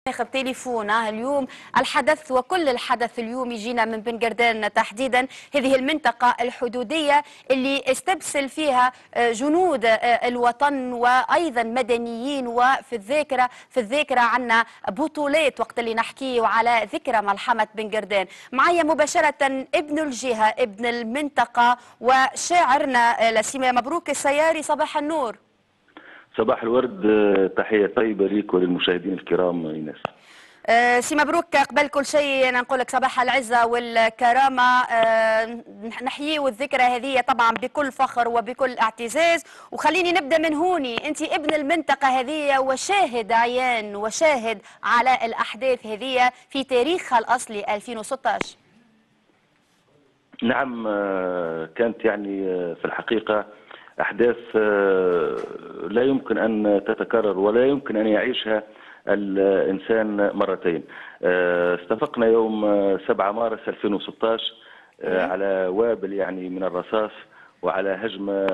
ناخذ تليفون اليوم الحدث وكل الحدث اليوم يجينا من بن قردان تحديدا، هذه المنطقة الحدودية اللي استبسل فيها جنود الوطن وأيضا مدنيين. وفي الذاكرة في الذاكرة عنا بطولات وقت اللي نحكيه على ذكرى ملحمة بن قردان. معايا مباشرة ابن الجهة ابن المنطقة وشاعرنا لسيما مبروك السياري، صباح النور. صباح الورد، تحية طيبة ليك وللمشاهدين الكرام إيناس. سي مبروك، قبل كل شيء أنا نقول لك صباح العزة والكرامة. نحيي الذكرى هذه طبعا بكل فخر وبكل اعتزاز، وخليني نبدأ من هوني. أنت ابن المنطقة هذه وشاهد عيان وشاهد على الأحداث هذه في تاريخها الأصلي 2016. نعم، كانت يعني في الحقيقة أحداث لا يمكن أن تتكرر ولا يمكن أن يعيشها الإنسان مرتين. استفقنا يوم 7 مارس 2016 على وابل يعني من الرصاص وعلى هجمة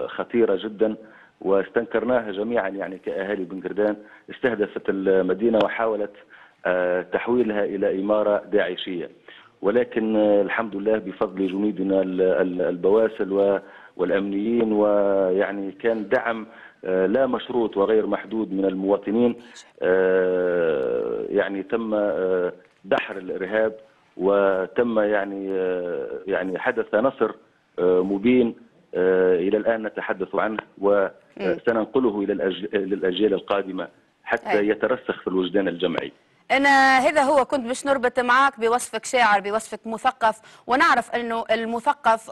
خطيرة جدا، واستنكرناها جميعا يعني كأهالي بن قردان. استهدفت المدينة وحاولت تحويلها إلى إمارة داعشية، ولكن الحمد لله بفضل جنودنا البواسل والأمنيين، ويعني كان دعم لا مشروط وغير محدود من المواطنين، يعني تم دحر الإرهاب، وتم يعني حدث نصر مبين إلى الآن نتحدث عنه وسننقله إلى الأجيال القادمة حتى يترسخ في الوجدان الجمعي. أنا هذا هو كنت باش نربط معاك بوصفك شاعر، بوصفك مثقف، ونعرف أنه المثقف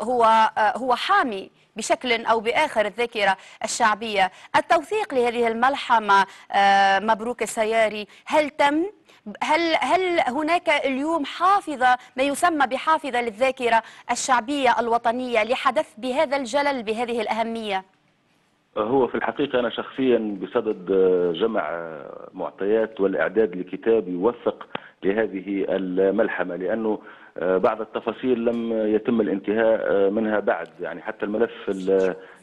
هو حامي بشكل أو بآخر الذاكرة الشعبية. التوثيق لهذه الملحمة مبروك السياري، هل تم؟ هل هناك اليوم حافظة، ما يسمى بحافظة للذاكرة الشعبية الوطنية لحدث بهذا الجلل بهذه الأهمية؟ هو في الحقيقة أنا شخصيا بصدد جمع معطيات والإعداد لكتاب يوثق لهذه الملحمة، لأنه بعض التفاصيل لم يتم الانتهاء منها بعد، يعني حتى الملف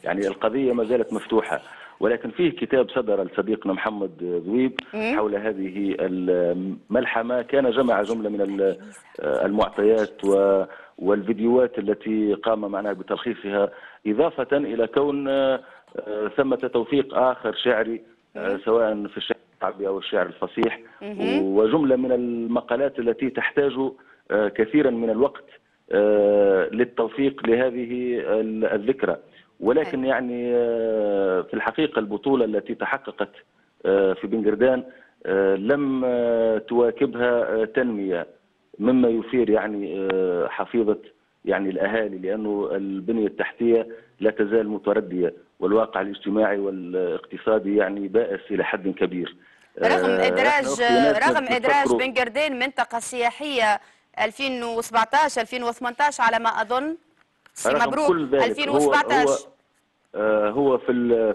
يعني القضية ما زالت مفتوحة، ولكن فيه كتاب صدر لصديقنا محمد ذويب حول هذه الملحمة، كان جمع جملة من المعطيات والفيديوهات التي قام معنا بتلخيصها، إضافة إلى كون ثمة توثيق آخر شعري سواء في الشعر الشعبي أو الشعر الفصيح، وجملة من المقالات التي تحتاج كثيرا من الوقت للتوثيق لهذه الذكرى. ولكن يعني في الحقيقة البطولة التي تحققت في بن قردان لم تواكبها تنمية، مما يثير يعني حفيظة يعني الأهالي، لأنه البنية التحتية لا تزال متردية والواقع الاجتماعي والاقتصادي يعني بائس إلى حد كبير. رغم إدراج بن قردان منطقة سياحية 2017 2018 على ما أظن. سي مبروك، 2017 هو في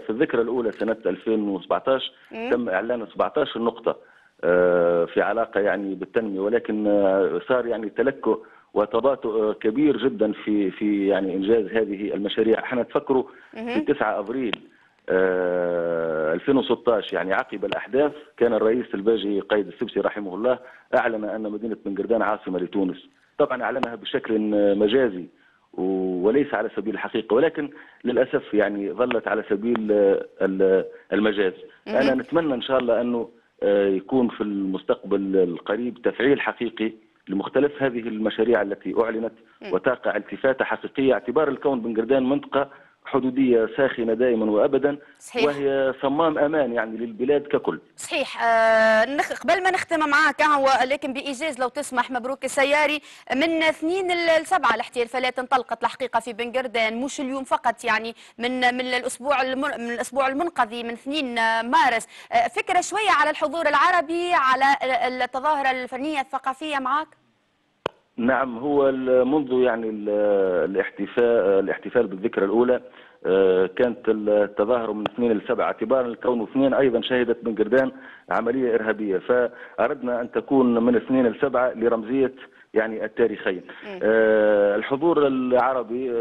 الذكرى الأولى سنة 2017 تم إعلان 17 نقطة في علاقة يعني بالتنمية، ولكن صار يعني تلكؤ وتباطؤ كبير جدا في يعني انجاز هذه المشاريع. احنا تفكروا في 9 ابريل 2016 يعني عقب الاحداث كان الرئيس الباجي قايد السبسي رحمه الله اعلن ان مدينة بن قردان عاصمة لتونس. طبعا اعلنها بشكل مجازي وليس على سبيل الحقيقة، ولكن للاسف يعني ظلت على سبيل المجاز. انا نتمنى ان شاء الله انه يكون في المستقبل القريب تفعيل حقيقي لمختلف هذه المشاريع التي أعلنت وتقع التفاتة حقيقية، اعتبار الكون بن قردان منطقة حدودية ساخنة دائما وأبدا. صحيح. وهي صمام أمان يعني للبلاد ككل. صحيح. قبل ما نختم معاك ولكن بإيجاز لو تسمح مبروك السياري، من 2 ل 7 الاحتفالات انطلقت الحقيقة في بن قردان، مش اليوم فقط، يعني من الأسبوع المنقضي من 2 مارس. فكرة شوية على الحضور العربي، على التظاهرة الفنية الثقافية معاك. نعم، هو منذ يعني الاحتفال بالذكرى الأولى كانت التظاهر من 2 ل 7، اعتبارا لكونه 2 أيضا شهدت بن قردان عملية إرهابية، فأردنا أن تكون من 2 ل 7 لرمزية يعني التاريخين. الحضور العربي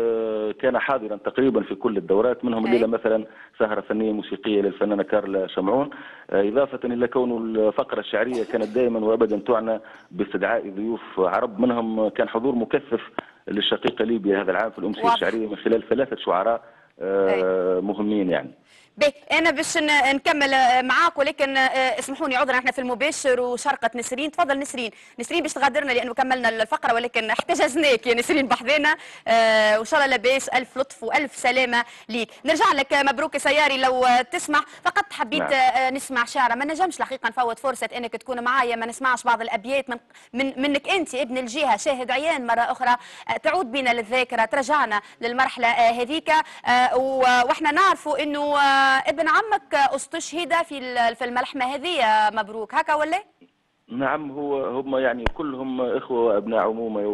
كان حاضرا تقريبا في كل الدورات، منهم الليلة مثلا سهرة فنية موسيقية للفنانة كارلا شمعون، إضافة إلى كون الفقرة الشعرية كانت دائما وأبدا تعنى باستدعاء ضيوف عرب، منهم كان حضور مكثف للشقيقة ليبيا هذا العام في الأمسية الشعرية من خلال 3 شعراء مهمين يعني. باهي، انا باش نكمل معاك، ولكن اسمحوني عذرا احنا في المباشر وشرقة نسرين. تفضل نسرين. نسرين باش تغادرنا لانه كملنا الفقرة، ولكن احتجزناك يا نسرين بحذانا، وان شاء الله لاباس، الف لطف والف سلامه ليك. نرجع لك مبروك سياري لو تسمح، فقط حبيت نسمع شعره، ما نجمش الحقيقة نفوت فرصة انك تكون معايا ما نسمعش بعض الابيات من منك انت ابن الجهة، شاهد عيان مرة اخرى، تعود بنا للذاكرة، ترجعنا للمرحلة هذيك. واحنا نعرفوا انه ابن عمك استشهد في الملحمة هذه، مبروك هكا ولا؟ نعم، هو هم يعني كلهم اخوه وابناء عمومه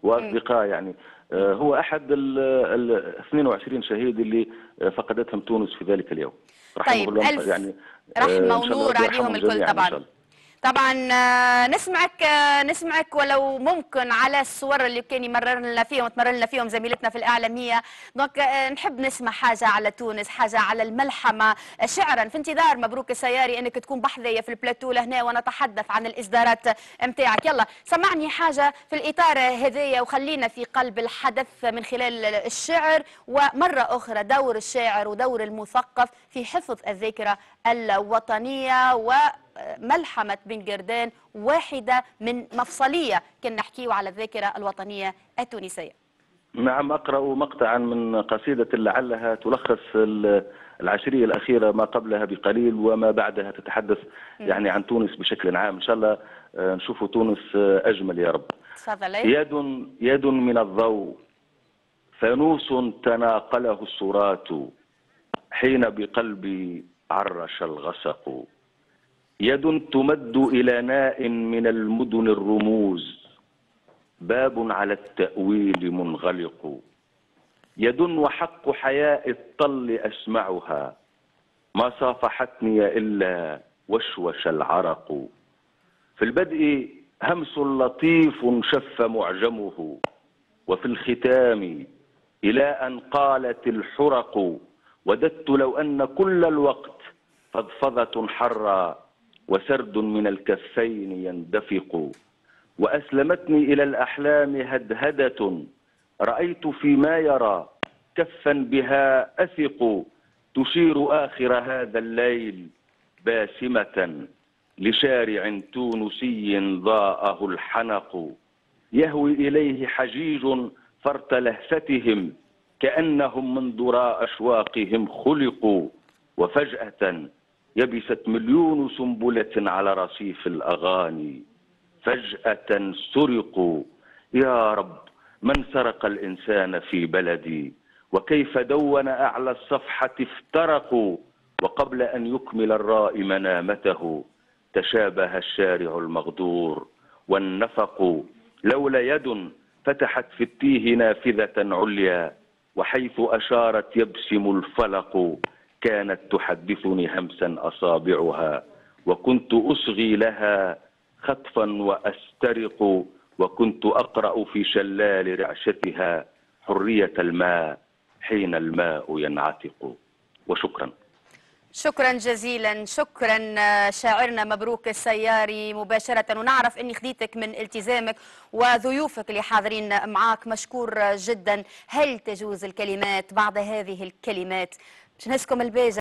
واصدقاء يعني. هو احد ال 22 شهيد اللي فقدتهم تونس في ذلك اليوم. رحمه طيب، الله ألف يعني رحمه إن شاء الله ونور ربي عليهم يرحمهم الكل. جميعاً إن طبعا شاء الله. طبعا نسمعك ولو ممكن على الصور اللي كان يمرر لنا فيهم وتمرر لنا فيهم زميلتنا في الإعلامية. donc نحب نسمع حاجة على تونس، حاجة على الملحمة، شعرا في انتظار مبروك السياري انك تكون بحذايا في البلاتو لهنا ونتحدث عن الإصدارات متاعك. يلا سمعني حاجة في الإطار هذايا وخلينا في قلب الحدث من خلال الشعر، ومرة أخرى دور الشاعر ودور المثقف في حفظ الذاكرة الوطنية وملحمة بن قردان واحدة من مفصلية كنا نحكيه على الذاكرة الوطنية التونسية. نعم، أقرأ مقطعا من قصيدة لعلها تلخص العشرية الأخيرة ما قبلها بقليل وما بعدها، تتحدث يعني عن تونس بشكل عام. إن شاء الله نشوف تونس أجمل يا رب. تفضل. يد من الضوء فانوس تناقله السرات، حين بقلبي عرش الغسق. يد تمد إلى ناء من المدن الرموز، باب على التأويل منغلق. يد وحق حياء الطل أسمعها، ما صافحتني إلا وشوش العرق. في البدء همس لطيف شف معجمه، وفي الختام إلى أن قالت الحرق. وددت لو أن كل الوقت فضفضة حرة، وسرد من الكفين يندفق. وأسلمتني إلى الأحلام هدهدة، رأيت فيما يرى كفا بها أثق. تشير آخر هذا الليل باسمة لشارع تونسي ضاءه الحنق. يهوي إليه حجيج فرط لهفتهم، كأنهم من ذراء أشواقهم خلقوا. وفجأة يبست مليون سنبلة على رصيف الأغاني، فجأة سرقوا. يا رب من سرق الإنسان في بلدي، وكيف دون أعلى الصفحة افترقوا. وقبل أن يكمل الرائي منامته، تشابه الشارع المغدور والنفق. لولا يد فتحت في التيه نافذة عليا، وحيث أشارت يبسم الفلق. كانت تحدثني همسا أصابعها، وكنت أصغي لها خطفا وأسترق. وكنت أقرأ في شلال رعشتها حرية الماء حين الماء ينعتق. وشكرا. شكرا جزيلا، شكرا شاعرنا مبروك السياري مباشرة. ونعرف أني خديتك من التزامك وضيوفك اللي حاضرين معاك، مشكور جدا. هل تجوز الكلمات بعد هذه الكلمات؟ باش نهزكم الباجة.